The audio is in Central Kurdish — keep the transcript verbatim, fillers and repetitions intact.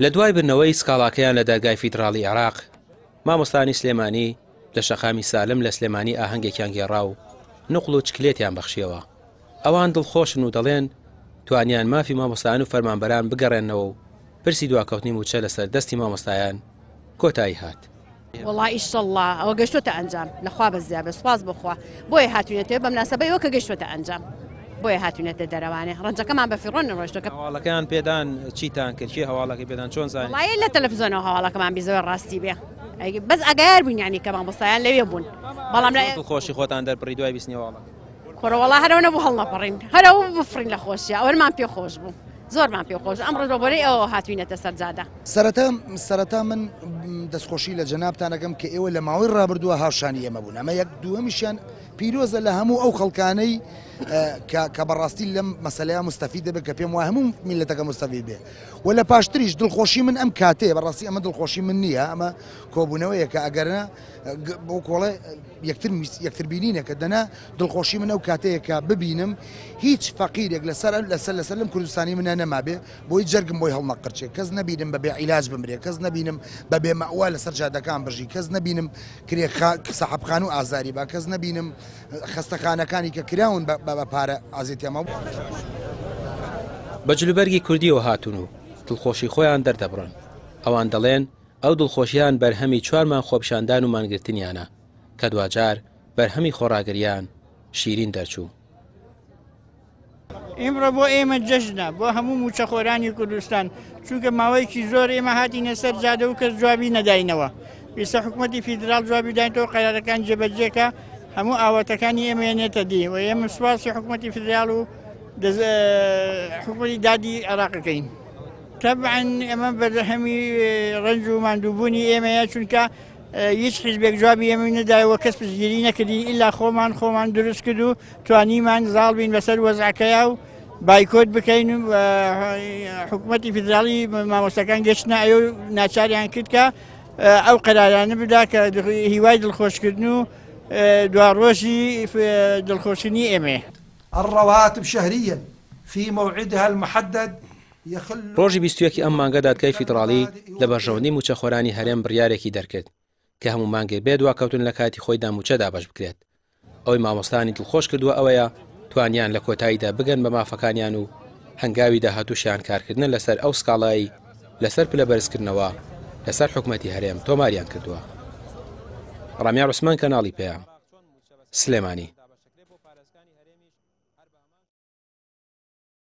لە دوای بردنەوەی سکاڵاکەیان لە دادگای فیدراڵی عێراق، مامۆستانی سلێمانی لە شەقامی سالم لە سلێمانی ئاهەنگێکیان گێڕا و نوقڵ و چکلێتیان بەخشیەوە. ئەوان دڵخۆشن و دەڵێن توانیان مافی مامۆستایان و فەرمانبەران بگەڕێنەوە و پرسی دواکەوتنی موچە لەسەر دەستی مامۆستایان کۆتایی هات. وەڵا ئیشەڵڵا ئەوە گەشتۆتە ئەنجام، لەخوا بەزیا بێ، سوپاس بۆ خوا بۆیە هاتوینەتەوە بە مناسبەیەوە کە گەشتۆتە ئەنجام، بۆیە هاتوینەتە دەرەوانێ ڕەنجەکەمان بە فیڕۆن ڕۆیشتووە. هەواڵەکەیان پێدان چیتان کرد؟ کێ هەواڵەکەی پێدان؟ چۆن زانی؟ وەڵای لە تەلەڤیزیۆنەوە هەواڵەکەمان بیزەوە ڕاستی بێ، بەس ئاگایار بووین یعنی کە مامۆستایان لەوێ بوون. بەڵام لە دڵخۆشی خۆتان دەربڕی دوای بیستنی هەواڵەکە؟ کوڕە وەڵا هەرەوە نەبوو هەڵنەپەڕین، هەرەوە بفڕین لە خۆشیە، ئەوەمان پێ خۆش بوو، زۆرمان پێ خۆش. ئەمڕۆ بە بۆنەی ئەوە هاتوینەتە سەرجادە. سەرەتا سەرەتا من دەستخۆشی لە جەنابتان ئەکەم کە ئێوە لە ماوەی ڕابردووە هاوشانی ئێمە بوون. ئەمە یەک دووەمیشیان پیرۆزە لە هەموو ئەو خەڵکانەی کە بەڕاستی لەم مەسەلەیە مستەفید دەبێت، کە پێم وایە هەموو میللەتەکە مستەفید بێ. و لە پاشتریش دڵخۆشی من ئەم کاتەیە، بەڕاستی ئەمە دڵخۆشی من نییە، ئەمە کۆبوونەوەیە کە ئەگەرنا بۆ کۆڵێ یەکتر یەکتر بینینەکە دەنا دڵخۆشی من ئەو کاتەیە کە ببینم هیچ فەقیرێک لەسەر لەسەر لەسەر لەم کوردستانی منە نەمابێ بۆی جەرگم بۆی هەڵنەقرچێ، کەس نەبینم بەبێ عیلاج بمرێ، کەس نەبینم بەبێ مەئوا لەسەر جادەکان بژی، کەس نەبینم کرێ سەحەبخان و ئازاری با، کەس نەبینم خەستەخانەکانی کە کراون بە پارە ئازێتیانما. بە جلوبەرگی کوردیەوە هاتوون و دڵخۆشی خۆیان دەردەبڕن. ئەوان دەڵێن ئەو دڵخۆشیان بەرهەمی چوارمان خۆپیشاندان و مانگرتنیانە کە دواجار بەرهەمی خۆڕاگریان شیرین دەرچوو. ئیمڕۆ بۆ ئێمە جەژنە، بۆ هەموو موچەخۆرانی کوردستان، چونکە ماوەیەکی زۆر ئێمە هاتینە سەر جادە و کەس جوابی نەداینەوە. ئێستا حکوومەتی فیدراڵ جوابی داینەوە، قەرارەکان جێبەجێکە، هەموو ئاواتەکانی ئێمە نێتە دی و ئێمە سوپاسی حکوومەتی فیدراڵ و حکوومەتی دادی عێراقەکەین. تەبعاً ئێمە بەرهەمی ڕەنج و ماندووبوونی ئێمەیە، چونکە هیچ حیزبێک جوابی ئێمە نەدایەوە، کەس پشتگیری نەکردین ئیلا خۆمان خۆمان دروست کرد و توانیمان زاڵ بین بەسەر وەزعەکەیا و بایکۆت بکەین. حکوومەتی فیدراڵی مامۆستاکان گەشتنە ئەو ناچاریان کرد کە ئەو قەرارانە بدا کە هیوای دڵخۆشکردن و دواڕۆژی دڵخۆشکردنی ئێمەیە. الرواتب شهريا في موعدها المحدد. ڕۆژی بیست و یەکی ئەم مانگە دادگای فیدراڵی لە بەرژەوەندی موچەخۆرانی هەرێم بڕیارێکی دەرکرد کە هەموو مانگێک بێ دواکەوتن لە کاتی خۆیدا موچە دابەش بکرێت. ئەوەی مامۆستانی دڵخۆش کردووە ئەوەیە توانیان لە کۆتاییدا بگەن بە مافەکانیان و هەنگاوی داهاتووشیان کارکردنە لەسەر ئەو سکاڵایی لەسەر پلە بەرزکردنەوە لەسەر حکومەتی هەرێم تۆماریان کردووە. ڕامیار عوسمان، کەناڵی پەیام، سلێمانی.